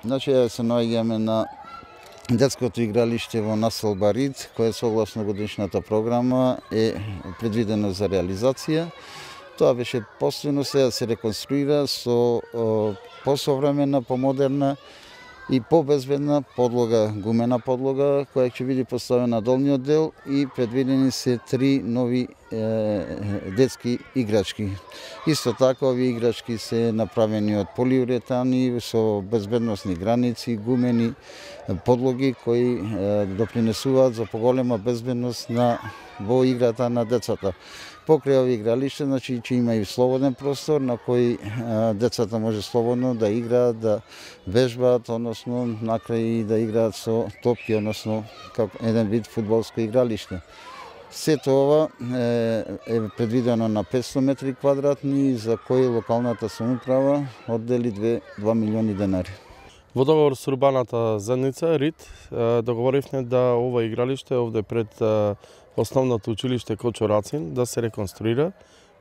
Значи, се наоѓаме на детското игралиште во населба Рид, кое согласно годишната програма е предвидено за реализација. Тоа беше постојано, сега се реконструира со посовремена, помодерна и побезбедна подлога, гумена подлога, која ќе биде поставена на долниот дел и предвидени се 3 нови детски играчки. Исто така, овие играчки се направени од полиуретани со безбедносни граници, гумени подлоги кои допринесуваат за поголема безбедност во играта на децата. Покрај овие игралишта, значи, ќе има и слободен простор на кој децата може слободно да играат, да вежбаат, односно накрај и да играат со топки, односно како еден вид фудбалско игралиште. Сето ова е предвидено на 500 метри квадратни, за кои локалната самоуправа оддели 2 милиони денари. Во договор со урбаната заедница Рид договоривме да ова игралиште овде пред основното училиште Кочо Рацин да се реконструира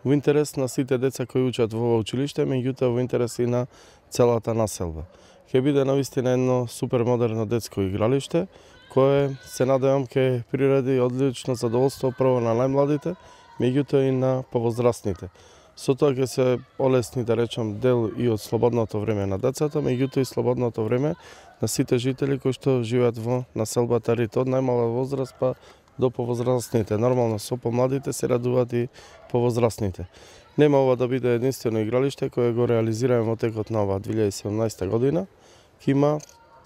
во интерес на сите деца кои учат во ова училиште, меѓутоа во интерес и на целата населба. Ќе биде навистина едно супер модерно детско игралиште кое се надевам ќе приреди одлично задоволство прво на најмладите, меѓутоа и на повозрастните. Со тоа ќе се олесни, да речам, дел и од слободното време на децата, меѓутоа и слободното време на сите жители кои што живеат во населбата Рид, од најмала возраст па до повозрастните. Нормално со помладите се радуваат и повозрастните. Нема ова да биде единствено игралиште кое го реализираме во текот на ова 2017 година. Ќе има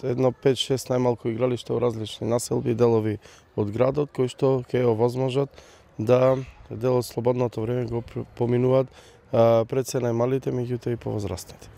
едно 5-6 најмалку игралиште во различни населби и делови од градот кои што ќе овозможат да дел од слободното време го поминуваат пред се најмалите, меѓутоа и повозрастните.